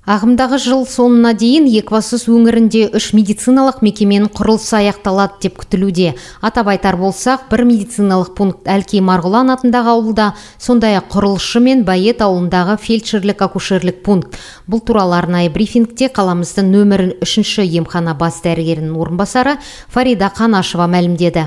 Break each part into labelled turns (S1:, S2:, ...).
S1: Ағымдағы жыл соңына дейін Екібастұз өңірінде 3 медициналық мекеменің құрылысы аяқталады деп күтілуде. Атап айтар болсақ, бір медициналық пункт Әлкей Марғұлан атындағы ауылда, сондай-ақ құрылысшы мен Байет ауылындағы фельдшерлік-акушерлік пункт. Бұл туралы арнайы брифингте қаламыздың нөмірі 3-ші емхана бас дәрігерінің орынбасары Фарида Қанашева мәлімдеді.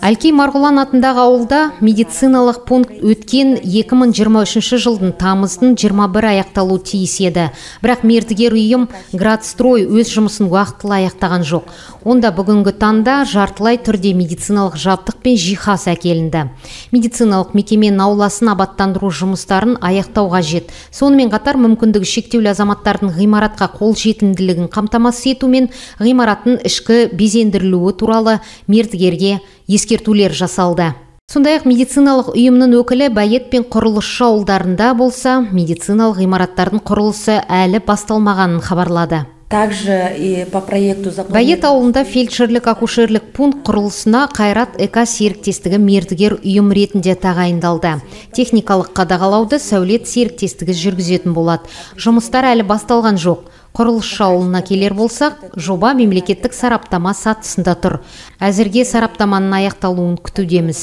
S1: Әлкей Марғұлан атындағы ауылда медициналық пункт өткен 2023 жылдың тамыздың 21 аяқталу тиіс еді. Бірақ мердігер ұйым Градстрой өз жұмысын уақытылы аяқтаған жоқ. Онда бүгінгі таңда жартылай түрде медициналық жабдық пен жиһаз әкелінді. Медициналық мекеменің ауласын абаттандыру жұмыстарын аяқтау қажет. Сонымен қатар мүмкіндігі шектеулі азаматтардың ғимаратқа қол жетімділігін қамтамасыз ету мен ғимараттың ішкі безендірілуі туралы мердігерге ескертулер жасалды. Сондай-ақ медициналық ұйымның өкілі Байет пен құрылысшы ауылдарында болса, медициналық ғимараттардың құрылысы әлі басталмағанын хабарлады. Байет ауылында фельдшерлік-акушерлік пункт құрылысына Қайрат ЭК серіктестігі мердігер ұйым ретінде тағайындалды. Техникалық қадағалауды Сәулет серіктестігі жүргізетін болады. Жұмыстар әлі басталған жоқ. Құрылысшы ауылына келер болсақ, жоба мемлекеттік сараптама сатысында тұр. Әзірге сараптаманың аяқталуын күтудеміз.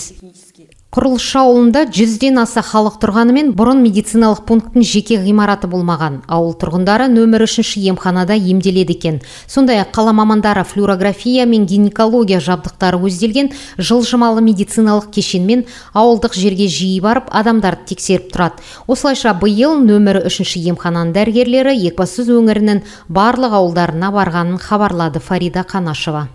S1: Құрылысшы ауылында 100-ден аса халық тұрғанымен бұрын медициналық пункттің жеке ғимараты болмаған. Ауыл тұрғындары нөмір 3-ші емханада емделеді екен. Сондай-ақ қала мамандары флюорография мен гинекология жабдықтары көзделген жылжымалы медициналық кешенмен ауылдық жерге жиі барып, адамдарды тексеріп тұрады. Осылайша биыл нөмір 3-ші емхананың дәрігерлері Екібастұз өңірінің барлық ауылдарына барғанын хабарлады Фарида Қанашева.